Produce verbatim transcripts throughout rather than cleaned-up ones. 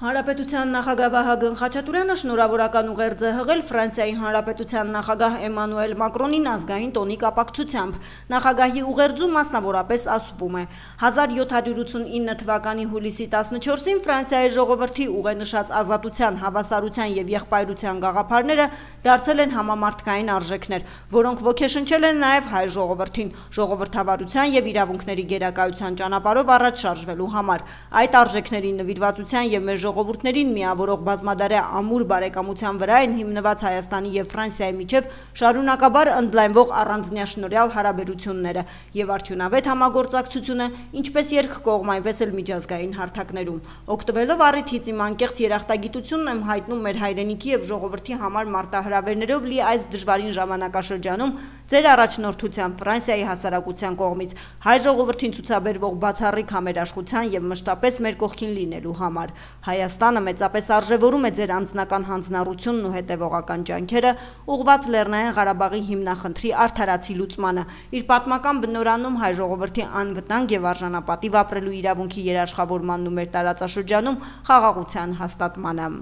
Հանրապետության նախագահ Վահագն Խաչատուրյանը շնորհավորական ուղերձ է հղել Ֆրանսիայի Հանրապետության նախագահ Էմանուել Մակրոնին ազգային տոնի կապակցությամբ։ Նախագահի ուղերձում մասնավորապես ասվում է. հազար յոթ հարյուր ութսունինը թվականի հուլիսի տասնչորսին Ֆրանսիայի ժողովրդի ուղենշած ազատության, հավասարության եւ եղբայրության գաղափարները դարձել են համամարտկային արժեքներ, որոնք ոգեշնչել են նաեւ հայ ժողովրդին, ժողովրդավարության եւ իրավունքների գերակայության ճանապարհով առաջ շարժվելու համար։ Այդ արժեքների նվիրվածության եւ մեր ժողովուրդներին միավորող բազմադարյա ամուր բարեկամության վրա են հիմնված Հայաստանի եւ Ֆրանսիայի միջև շարունակաբար ընդլայնվող առանձնյաշնորհյալ հարաբերությունները եւ արդյունավետ համագործակցությունը ինչպես երկկողմ, այնպես էլ միջազգային հարթակներում։ Օգտվելով առիթից իմ անկեղծ երախտագիտությունն եմ հայտնում մեր հայրենիքի եւ ժողովրդի համար մարտահրավերներով լի այս դժվարին ժամանակաշրջանում ձեր առաջնորդությամբ Ֆրանսիայի հասարակության կողմից հայ ժողովրդին ցուցաբերվող բացառիկ համերաշխության եւ մշտապես մեր կողքին լինելու համար։ Հայաստանը մեծապես արժևորում է ձեր անձնական հանձնառությունն ու հետևողական ջանքերը ուղղված Լեռնային Ղարաբաղի հիմնախնդրի արդարացի լուծմանը, իր պատմական բնորանում հայ ժողովրդի անվտանգ եւ արժանապատիվ ապրելու իրավունքի երաշխավորմանն ու մեր տարածաշրջանում խաղաղության հաստատմանը։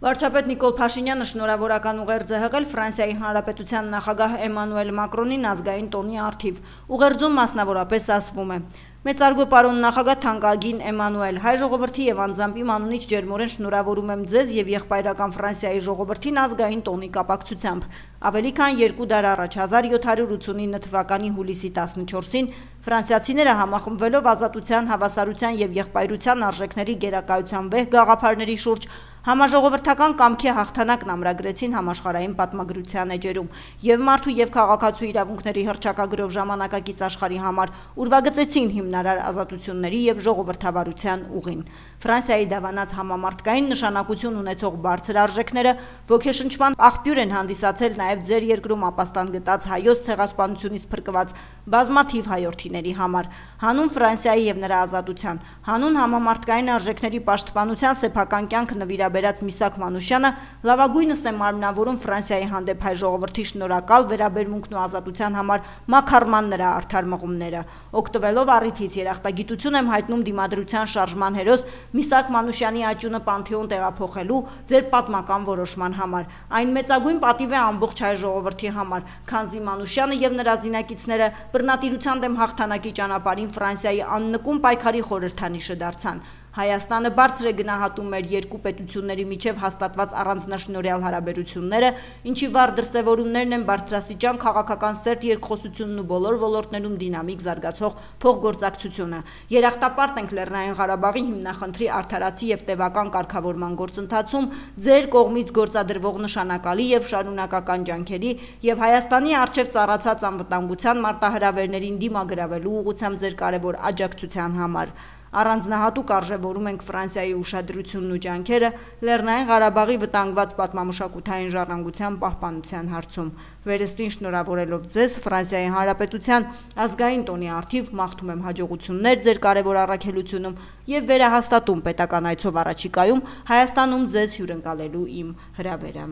Վարչապետ Նիկոլ Փաշինյանը շնորհավորական ուղերձ է հղել Ֆրանսիայի Հանրապետության նախագահ Էմանուել Մակրոնին ազգային տոնի առթիվ։ Ուղերձում մասնավորապես ասվում է. Մեծարգո պարոն նախագահ թանկագին Էմանուել, հայ ժողովրդի եւ անձամբ իմ անունից ջերմորեն շնորհավորում եմ ձեզ եւ եղբայրական Ֆրանսիայի ժողովրդին ազգային տոնի կապակցությամբ։ Ավելի քան երկու դար առաջ հազար յոթ հարյուր ութսունինը թվականի հուլիսի տասնչորսին ֆրանսիացիները համախմբվելով ազատության, հավասարության եւ եղբայրության արժեքների գերակայության վեհ գաղափարների շուրջ համաժողովրդական կամքի հաղթանակն ամրագրեցին համաշխարհային պատմագրության էջերում եւ մարդու եւ քաղաքացու իրավունքների հռչակագրով ժամանակակից աշխարհի համար ուրվագծեցին հիմնարար ազատությունների եւ ժողովրդավարության ուղին։ Ֆրանսիայի դավանած համամարտկային նշանակություն ունեցող բարձր արժեքները ոգեշնչման աղբյուր են հանդիսացել նաեւ ձեր երկրում ապաստան գտած հայոց ցեղասպանությունից փրկված բազմաթիվ հայրենիների համար։ Հանուն Ֆրանսիայի եւ նրա ազատության, հանուն համամարտկային արժեքների պաշտպանության սեփական կյանք նվիրաբերած Միսակ Մանուշյանը լավագույնս է մարմնավորում Ֆրանսիայի հանդեպ հայ ժողովրդի շնորհակալ վերաբերմունքն ու ազատության համար մաքարման նրա արդար մղումները։ Օգտվելով առիթից երախտագիտություն եմ հայտնում դիմադրության շարժման հերոս Միսակ Մանուշյանի աճյունը Պանթեոն տեղափոխելու ձեր պատմական որոշման համար։ Այն մեծագույն պատիվ է ամբողջ հայ ժողովրդի համար, քանզի Մանուշյանը եւ նրա զինակիցները բռնատիրության դեմ հաղթանակի ճանապարհին Ֆրանսիայի աննկուն պայքարի խորհրդանիշը դարձան։ Հայաստանը բարձր է գնահատում մեր երկու պետությունների միջև հաստատված առանձնաշնորհյալ հարաբերությունները, ինչի վառ դրսևորումներն են բարձրաստիճան քաղաքական սերտ երկխոսությունն ու բոլոր ոլորտներում դինամիկ զարգացող փոխգործակցությունը։ Երախտապարտ ենք Լեռնային Ղարաբաղի հիմնախնդրի արդարացի եւ տևական կարգավորման գործընթացում ձեր կողմից գործադրվող նշանակալի եւ շարունակական ջանքերի եւ Հայաստանի առջեւ ծառացած անվտանգության մարտահրավերներին դիմագրավելու ուղղությամբ ձեր կարևոր աջակցության համար։ Առանձնահատուկ արժևորում ենք Ֆրանսիայի ուշադրությունն ու ջանքերը Լեռնային Ղարաբաղի վտանգված պատմամշակութային ժառանգության պահպանության հարցում։ Վերստին շնորհավորելով ձեզ Ֆրանսիայի Հանրապետության ազգային տոնի առթիվ մաղթում եմ հաջողություններ ձեր կարևոր առաքելությունում եւ վերահաստատում պետական այցով առաջիկայում Հայաստանում ձեզ հյուրընկալելու իմ հրավերը։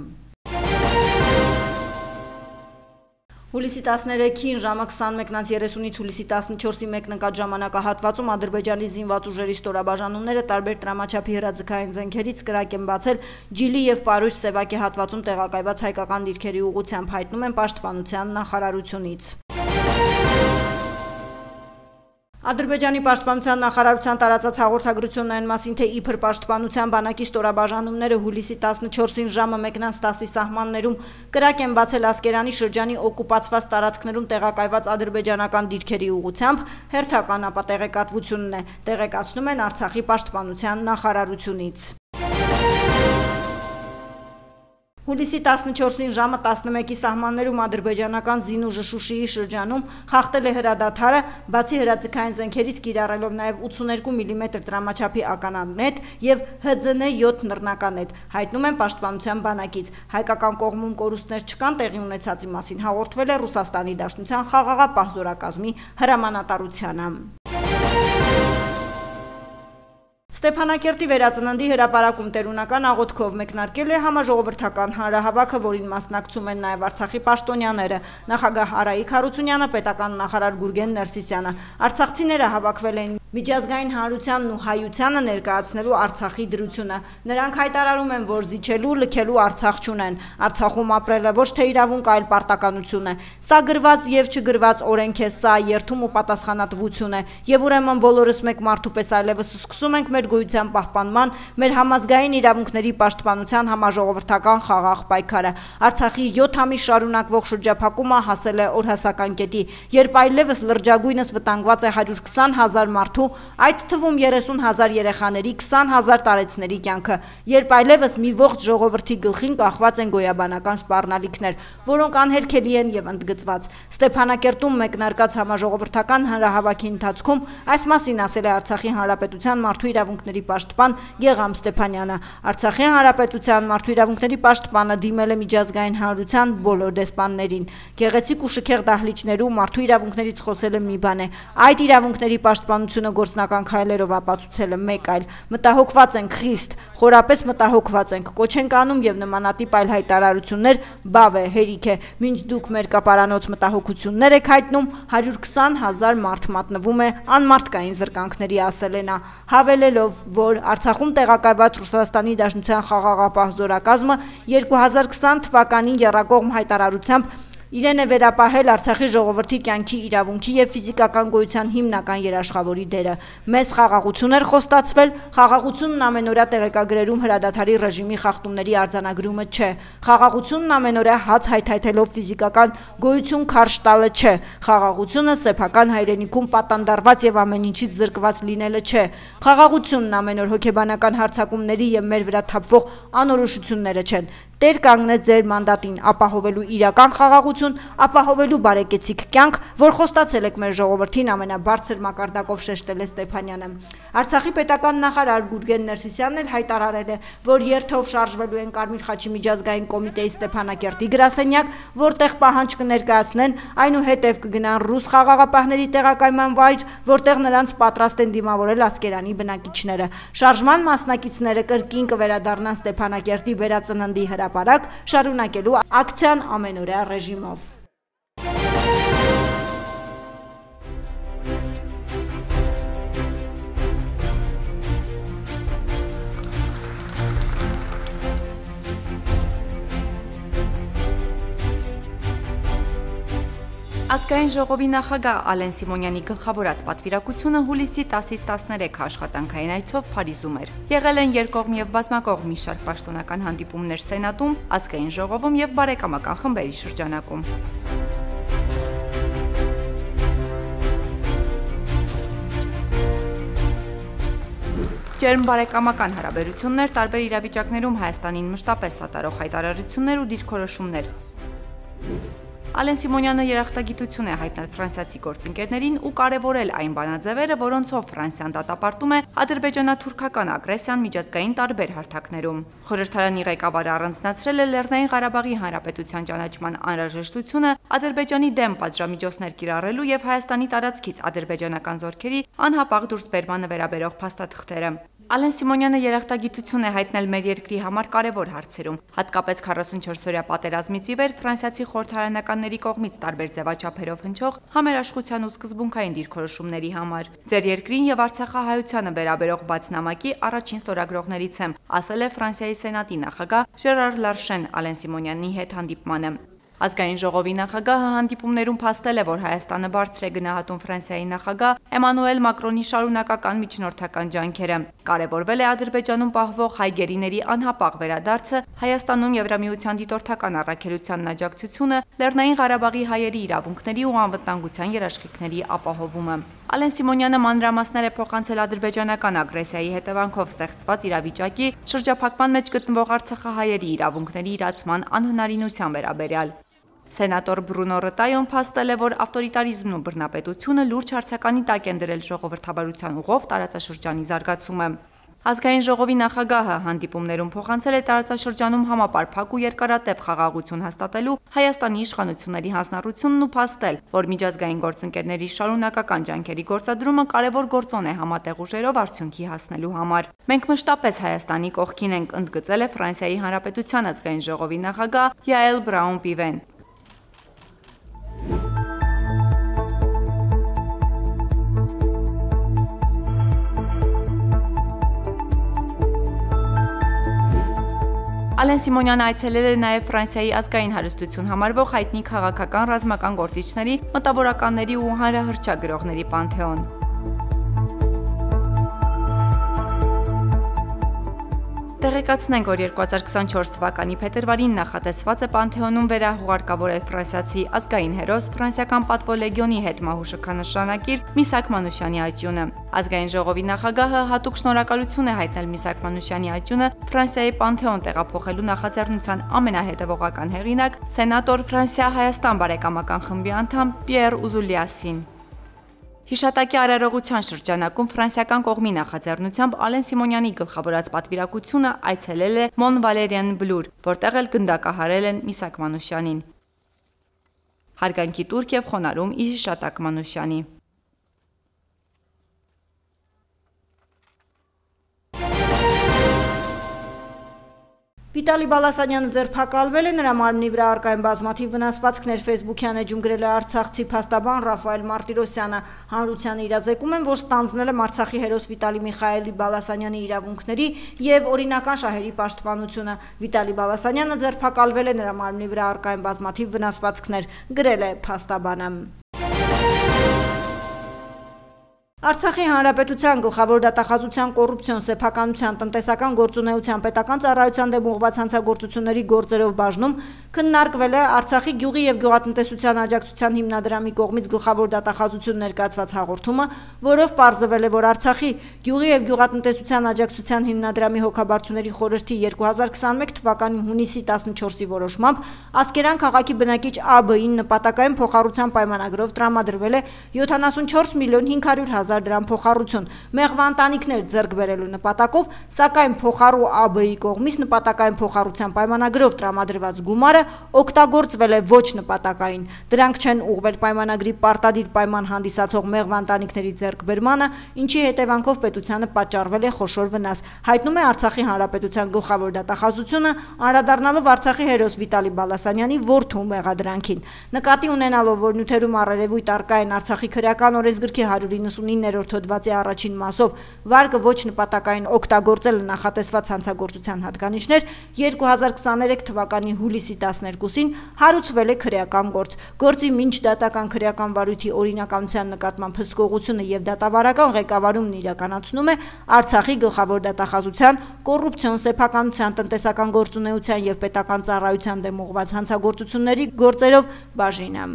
Հուլիսի տասներեքին ժամը քսանմեկից երեսունից հուլիսի տասնչորսի մեկնկատ ժամանակահատվածում Ադրբեջանի զինված ուժերի ստորաբաժանումները տարբեր տրամաչափի հրաձգային զենքերից կրակ են բացել Ջիլի եւ Պարույր Սևակի հատվածում տեղակայված հայկական դիրքերի ուղղությամբ, հայտնում են Պաշտպանության նախարարությունից։ Ադրբեջանի պաշտպանության նախարարության տարածած հաղորդագրությունն այն մասին, թե իբր պաշտպանության բանակի ստորաբաժանումները հուլիսի տասնչորսին ժամը մեկնանց տասի սահմաններում կրակ են բացել Ասկերանի շրջանի օկուպացված տարածքներում տեղակայված ադրբեջանական դիրքերի ուղղությամբ, հերթական ապատեղեկատվությունն է, տեղեկացնում են Արցախի պաշտպանության նախարարությունից։ Հուլիսի տասնչորսին ժամը տասնմեկի սահմաններում ադրբեջանական զինուժը Շուշիի շրջանում խախտել է հրադադարը, բացի հրաձգային զենքերից կիրառելով նաև ութսուներկու միլիմետր տրամաչափի ականանետ եւ Հ Ծ Ն յոթ նռնականետ, հայտնում են Պաշտպանության բանակից։ Հայկական կողմում կորուստներ չկան, տեղի ունեցածի մասին հաղորդվել է Ռուսաստանի Դաշնության խաղաղապահ զորակազմի հրամանատարությանը։ Ստեփանակերտի վերածննդի հրապարակում տերունական աղոթքով մեկնարկել է համաժողովրդական հանրահավաքը, որին մասնակցում են նաև Արցախի պաշտոնյաները, նախագահ Արայիկ Հարությունյանը, պետական նախարար Գուրգեն Ներսիսյանը։ Արցախցիները հավաքվել են միջազգային հանրությանն ու հայությանը ներկայացնելու Արցախի դրությունը։ Նրանք հայտարարում են, որ զիջելու, լքելու Արցախ չունեն։ Արցախում ապրելը ոչ թե իրավունք, այլ պարտականություն է։ Սա գրված եւ չգրված օրենք է, սա երթում ու պատասխանատվություն է։ Եվ ուրեմն բոլորս մեկ մարդու պես այլևս սկսում ենք մեր գոյության պահպանման, մեր համազգային իրավունքների պաշտպանության համաժողովրդական խաղաղ պայքարը։ Արցախի յոթ ամիս շարունակվող շրջափակումը հասել է օրհասական կետի, երբ այլևս լրջագույնս վտանգված է հարյուր քսան հազար մարդու, այդ թվում երեսուն հազար երեխաների, քսան հազար տարեցների կյանքը, երբ այլևս մի ողջ ժողովրդի գլխին կախված են գոյաբանական սպառնալիքներ, որոնք անհերքելի են եւ ընդգծված։ Ստեփանակերտում մեկնարկած համաժողովրդական հանրահավաքի ընթացքում այս մասին ասել է Արցախի հանրապետության մարդու իրավունքների պաշտպան Գեգամ Ստեփանյանը։ Արցախի հանրապետության մարդու իրավունքների պաշտպանը դիմել է միջազգային հանրության բոլոր դեսպաններին։ Գեղեցիկ ու շքեղ դահլիճներում մարդու իրավունքներից խոսելը մի բան է, այդ իրավունքների պաշտպանությունը գործնական քայլերով ապացուցելը մեկ այլ։ Մտահոգված ենք խիստ, խորապես մտահոգված ենք, կոչ ենք անում եւ նմանատիպ այլ հայտարարություններ բավ է, հերիք է, մինչ դուք մեր կապարանոց մտահոգություններ եք հայտնում, հարյուր քսան հազար մարդ մատնվում է անմարդկային զրկանքների, ասել է նա, հավելելով, որ Արցախում տեղակայված Ռուսաստանի Դաշնության խաղաղապահ զորակազմը երկու հազար քսան թվականին եռակողմ հայտարարությամբ իրեն է վերապահել Արցախի ժողովրդի կյանքի իրավունքի եւ ֆիզիկական գոյության հիմնական երաշխավորի դերը։ Մեծ խաղաղություն էր խոստացվել, խաղաղությունն ամենօրյա տեղեկագրերում հրադադարի ռեժիմի խախտումների արձանագրումը չէ։ Խաղաղությունն ամենօրյա հաց հայթայթելով ֆիզիկական գոյություն քարշ տալը չէ։ Խաղաղությունը սեփական հայրենիքում պատանդարված եւ ամեն ինչից զրկված լինելը չէ։ Խաղաղությունն ամենօր հոգեբանական հարձակումների եւ մեր վրա թափվող անորոշությունները չեն։ Տեր կանգնեց ձեր մանդատին ապահովելու իրական խաղաղություն, ապահովելու բարեկեցիկ կյանք, որ խոստացել եք մեր ժողովրդին, ամենաբարձր մակարդակով շեշտել է Ստեփանյանը։ Արցախի պետական նախարար Գուրգեն Ներսիսյանն էլ հայտարարել է, որ երթով շարժվելու են Կարմիր խաչի միջազգային կոմիտեի Ստեփանակերտի գրասենյակ, որտեղ պահանջ կներկայացնեն, այնուհետև կգնան ռուս խաղաղապահների տեղակայման վայր, որտեղ նրանց պատրաստ են դիմավորել Ասկերանի բնակիչները։ Շարժման մասնակիցները կրկին կվերադառնան Ստեփանակերտի վերածննդի հրապարակ, շարունակելու ակցիան ամենօրյա ռեժիմով։ Ազգային ժողովի նախագահ Ալեն Սիմոնյանի գլխավորած պատվիրակությունը հուլիսի տասից տասներեքը աշխատանքային այցով Փարիզում էր։ Եղել են երկկողմ եւ բազմակողմ մի շարք պաշտոնական հանդիպումներ Սենատում, Ազգային ժողովում եւ բարեկամական խմբերի շրջանակում։ Ջերմ բարեկամական հարաբերություններ, տարբեր իրավիճակներում Հայաստանին մշտապես սատարող հայտարարություններ ու դիրքորոշումներ։ Ալեն Սիմոնյանը երախտագիտություն է հայտնել ֆրանսիացի գործընկերներին ու կարևորել այն բանաձևերը, որոնցով Ֆրանսիան դատապարտում է ադրբեջանա-թուրքական ագրեսիան միջազգային տարբեր հարթակներում։ Խորհրդարանի ղեկավարը առանձնացրել է Լեռնային Ղարաբաղի Հանրապետության ճանաչման անհրաժեշտությունը Ադրբեջանի դեմ պատժամիջոցներ կիրառելու եւ Հայաստանի տարածքից ադրբեջանական զորքերի անհապաղ դուրսբերմանը վերաբերող փաստաթղթերը։ Ալեն Սիմոնյանը երախտագիտություն է հայտնել մեր երկրի համար կարևոր հարցերում, հատկապես քառասունչորսօրյա պատերազմից ի վեր ֆրանսիացի խորհրդարանականների կողմից տարբեր ձևաչափերով հնչող համերաշխության ու սկզբունքային դիրքորոշումների համար։ Ձեր երկրին եւ Արցախահայությանը վերաբերող բաց նամակի առաջին ստորագրողներից եմ, ասել է Ֆրանսիայի Սենատի նախագահ Ժերար Լարշեն Ալեն Սիմոնյանի հետ հանդիպմանը։ Ազգային ժողովի նախագահը հանդիպումներում փաստել է, որ Հայաստանը բարձր է գնահատում Ֆրանսիայի նախագահ Էմանուել Մակրոնի շարունակական միջնորդական ջանքերը։ Կարևորվել է Ադրբեջանում պահվող հայ գերիների անհապաղ վերադարձը, Հայաստանում Եվրամիության դիտորդական առաքելությանն աջակցությունը, Լեռնային Ղարաբաղի հայերի իրավունքների ու անվտանգության երաշխիքների ապահովումը։ Ալեն Սիմոնյանը մանրամասներ է փոխանցել ադրբեջանական ագրեսիայի հետևանքով ստեղծված իրավիճակի, շրջափակման մեջ գտնվող արցախահայերի իրավունքների իրացման անհնարինության վերաբերյալ։ Սենատոր Բրունո Ռտայոն փաստել է, որ ավտորիտարիզմն ու բռնապետությունը լուրջ հարցականի տակ են դրել ժողովրդավարության ուղով տարածաշրջանի զարգացումը։ Ազգային ժողովի նախագահը հանդիպումներում փոխանցել է տարածաշրջանում համապարփակ ու երկարատև խաղաղություն հաստատելու Հայաստանի իշխանությունների հանձնառությունն ու փաստել, որ միջազգային գործընկերների շարունակական ջանքերի գործադրումը կարևոր գործոն է համատեղ ուժերով արդյունքի հասնելու համար։ Մենք մշտապես Հայաստանի կողքին ենք, ընդգծել է Ֆրանսիայի Հանրապետության ազգային ժողովի նախագահ Յաել Բրաուն-Պիվեն։ Ալեն Սիմոնյանը այցելել է նաև Ֆրանսիայի ազգային հարստություն համարվող հայտնի քաղաքական ռազմական գործիչների, մտավորականների ու հանրահռչակ գրողների պանթեոն։ Տեղեկացնենք, որ երկու հազար քսանչորս թվականի փետրվարին նախատեսված է Պանթեոնում վերահուղարկավորել ֆրանսիացի ազգային հերոս ֆրանսիական պատվոլեգիոնի հետմահու շքանշանակիր Միսակ Մանուշյանի աճյունը։ Ազգային ժողովի նախագահը հատուկ շնորհակալություն է հայտնել Միսակ Մանուշյանի աճյունը Ֆրանսիայի Պանթեոն տեղափոխելու նախաձեռնության ամենահետևողական հեղինակ սենատոր Ֆրանսիա-Հայաստան բարեկամական խմբի անդամ Պիեր Ուզուլիասին։ Հիշատակի արարողության շրջանակում ֆրանսիական կողմի նախաձեռնությամբ Ալեն Սիմոնյանի գլխավորած պատվիրակությունը այցելել է Մոն Վալերիան Բլուր, որտեղ էլ գնդակահարել են Միսակ Մանուշյանին։ Հարգանքի տուրք եւ խոնարհում ի հիշատակ Մանուշյանի։ Վիտալի Բալասանյանը ձերբակալվել է, նրա մարմնի վրա առկա են բազմաթիվ վնասվածքներ, ֆեյսբուքյան էջում գրել է արցախցի փաստաբան Ռաֆայել Մարտիրոսյանը։ Հանրությանը իրազեկում են, որ ստանձնել եմ Արցախի հերոս Վիտալի Միխայելի Բալասանյանի իրավունքների եւ օրինական շահերի պաշտպանությունը։ Վիտալի Բալասանյանը ձերբակալվել է, նրա մարմնի վրա առկա են բազմաթիվ վնասվածքներ, գրել է փաստաբանը։ Արցախի հանրապետության գլխավոր դատախազության կոռուպցիոն սեփականության տնտեսական գործունեության պետական ծառայության դեմ ուղղված հանցագործությունների գործերով բաժնում քննարկվել է Արցախի գյուղի եւ գյուղատնտեսության աջակցության հիմնադրամի կողմից գլխավոր դատախազություն ներկայացված հաղորդումը, որով պարզվել է, որ Արցախի գյուղի եւ գյուղատնտեսության աջակցության հիմնադրամի հոգաբարձուների խորհրդի երկու հազար քսաներորդ թվականի հունիսի տասնչորսի որոշմամբ Ասկերան քաղաքի բնակիչ Ա Բ-ին նպատակային փոխառության պայմանագրով տրամադրվել է յոթանասունչորս միլիոն հինգ հարյուր հազար դրամ փոխառություն մեղվա ընտանիքներ ձեռք բերելու նպատակով, սակայն փոխառու Ա Բ-ի կողմից նպատակային փոխառության պայմանագրով տրամադրված գումարը օգտագործվել է ոչ նպատակային։ Դրանք չեն ուղղվել պայմանագրի պարտադիր պայման հանդիսացող մեղվա ընտանիքների ձեռքբերմանը, ինչի հետևանքով պետությանը պատճառվել է խոշոր վնաս, հայտնում է Արցախի հանրապետության գլխավոր դատախազությունը, անդրադառնալով Արցախի հերոս Վիտալի Բալասանյանի որդու մեղադրանքին։ Նկատի ունենալով, որ նյութերում առերևույթ առկա են Արցախի քրեական օրենսգրքի հարյուր իննսունիններորդ հոդվածի առաջին մասով վարկը ոչ նպատակային օգտագործել նախատեսված հանցագործության հատկանիշներ, երկու հազար քսաներեք թվականի հուլիսի տասներկուսին հարուցվել է քրեական գործ։ Գործի մինչ դատական քրեական վարույթի օրինականության նկատմամբ հսկողությունը եւ դատավարական ղեկավարումն իրականացնում է Արցախի գլխավոր դատախազության կոռուպցիոն սեփականության տնտեսական գործունեության եւ պետական ծառայության դեմ ուղղված հանցագործությունների գործերով բաժինը։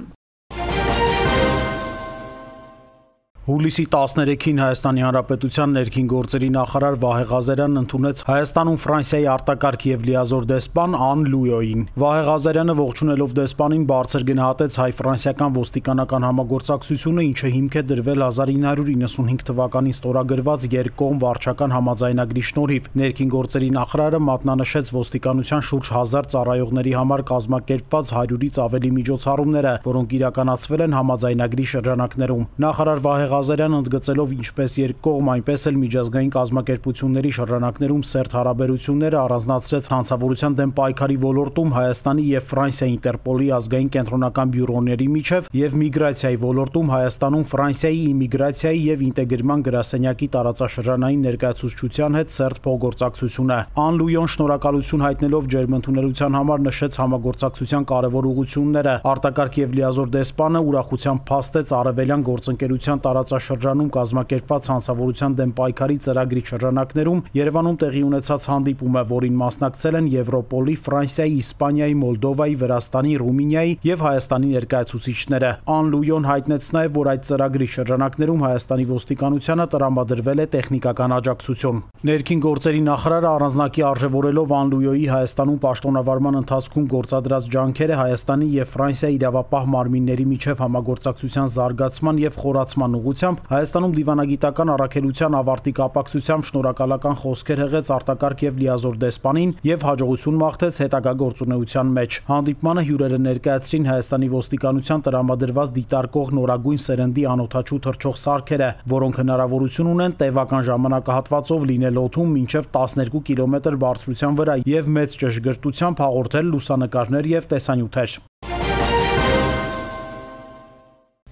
Հուլիսի տասներեքին Հայաստանի Հանրապետության ներքին գործերի նախարար Վահե Ղազարյանն ընդունեց Հայաստանում Ֆրանսիայի արտակարգ եւ լիազոր դեսպան Ան Լույոյին։ Վահե Ղազարյանը ողջունելով դեսպանին բարձր գնահատեց հայ-ֆրանսիական ոստիկանական համագործակցությունը, ինչը հիմք է դրվել հազար ինը հարյուր իննսունհինգ թվականին ստորագրված երկկողմ վարչական համաձայնագրի շնորհիվ։ Ներքին գործերի նախարարը մատնանշեց ոստիկանության շուրջ հազար ծառայողների համար կազմակերպված հարյուրից ավելի միջոցառումները, որոնք իրականացվել են համաձայնագրի շրջանակներում։ Նախարար Վահե Ղազարյանը ընդգծելով ինչպես երկկողմ, այնպես էլ միջազգային կազմակերպությունների շրջանակներում սերտ հարաբերությունները առանձնացրեց հանցավորության դեմ պայքարի ոլորտում Հայաստանի եւ Ֆրանսիայի Ինտերպոլի ազգային կենտրոնական բյուրոների միջև եւ միգրացիայի ոլորտում Հայաստանում Ֆրանսիայի իմիգրացիայի եւ ինտեգրման գրասենյակի տարածաշրջանային ներկայացուցչության հետ սերտ փոխգործակցությունը։ Ան Լույոն շնորհակալություն հայտնելով ջերմընդունելության համար նշեց համագործակցության կարևոր ուղղությունները։ Արտակարգ եւ լիազոր դեսպանը ուրախությամբ փաստեց արևելյան գործընկերության տարածաշրջանում կազմակերպված հանցավորության դեմ պայքարի ծրագրի շրջանակներում Երևանում տեղի ունեցած հանդիպումը, որին մասնակցել են Եվրոպոլի, Ֆրանսիայի, Իսպանիայի, Մոլդովայի, Վրաստանի, Ռումինիայի եւ Հայաստանի ներկայացուցիչները։ Ան Լույոն հայտնեց նաեւ, որ այդ ծրագրի շրջանակներում Հայաստանի ոստիկանությանը տրամադրվել է տեխնիկական աջակցություն։ Ներքին գործերի նախարարը առանձնակի արժևորելով Ան Լույոյի Հայաստանում պաշտոնավարման ընթացքում գործադրած ջանքերը Հայաստանի եւ Ֆրանսիայի իրավապահ մարմինների միջև համագործակցության զարգացման եւ խորացման ուղղությամբ Հայաստանում դիվանագիտական առաքելության ավարտի կապակցությամբ շնորհակալական խոսքեր հղեց արտակարգ եւ լիազոր դեսպանին եւ հաջողություն մաղթեց հետագա գործունեության մեջ։ Հանդիպմանը հյուրերը ներկայացրին Հայաստանի ոստիկանության տրամադրված դիտարկող նորագույն սերնդի անօդաչու թռչող սարքերը, որոնք հնարավորություն ունեն տևական ժամանակահատվածով լինել օդում մինչև տասներկու կիլոմետր բարձրության վրա եւ մեծ ճշգրտությամբ հաղորդել լուսանկարներ եւ տեսանյութեր։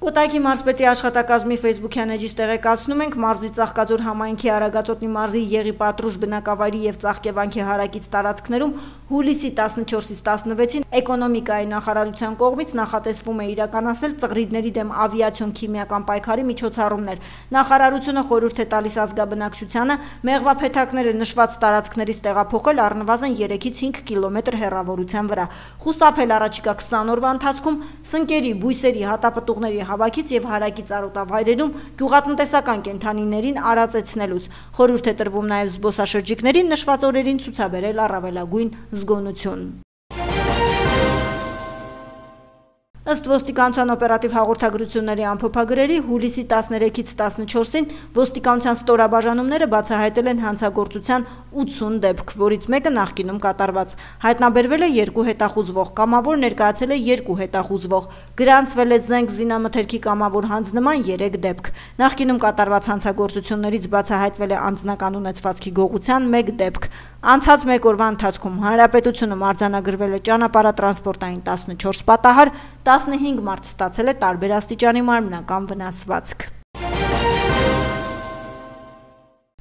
Կոտայքի մարզպետի աշխատակազմի Facebook-յան էջից տեղեկացնում ենք, մարզի Ծաղկաձոր համայնքի Արագածոտնի մարզի Եղի Պատրուժ բնակավայրի եւ Ծաղկևանքի հարակից տարածքներում հուլիսի տասնչորսից տասնվեցին էկոնոմիկայի նախարարության կողմից նախատեսվում է իրականացնել ծղրիդների դեմ ավիացիոն քիմիական պայքարի միջոցառումներ։ Նախարարությունը խորհուրդ է տալիս ազգաբնակչությանը մեղվափեթակները նշված տարածքներից տեղափոխել առնվազն երեքից հինգ կիլոմետր հեռավորության վրա, խուսափել առաջիկա քսան օրվա ընթացքում սնկերի, բույսերի, հատապտուղների հավաքից եւ հարակից արոտավայրերում գյուղատնտեսական կենդանիներին արածեցնելուց։ Խորհուրդ է տրվում նաեւ զբոսաշրջիկներին նշված օրերին ցուցաբերել առավելագույն զգոնություն։ Ըստ ոստիկանության օպերատիվ հաղորդագրությունների ամփոփագրերի հուլիսի տասներեքից տասնչորսին ոստիկանության ստորաբաժանումները բացահայտել են հանցագործության ութսուն դեպք, որից մեկը նախկինում կատարված։ Հայտնաբերվել է երկու հետախուզվող, կամավոր ներկայացել է երկու հետախուզվող, գրանցվել է զենք զինամթերքի կամավոր հանձնման երեք դեպք։ Նախկինում կատարված հանցագործություններից բացահայտվել է անձնական ունեցվածքի գողության մեկ դեպք։ Անցած մեկ օրվա ընթացքում հանրապետությունում արձանագրվել է ճանապարհատրանսպորտային տասնչորս պատահար, տասնհինգ մարդ ստացել է տարբեր աստիճանի մարմնական վնասվածք։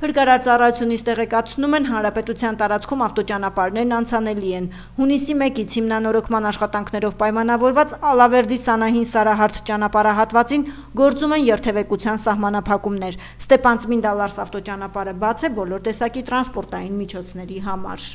Փրկարար ծառայությունից տեղեկացնում են, հանրապետության տարածքում ավտոճանապարհներն անցանելի են։ Հունիսի մեկից հիմնանորոգման աշխատանքներով պայմանավորված Ալավերդի Սանահին Սարահարթ ճանապարհահատվածին գործում են երթևեկության սահմանափակումներ։ Ստեփանցմին Դալարս ավտոճանապարհը բաց է բոլոր տեսակի տրանսպորտային միջոցների համար։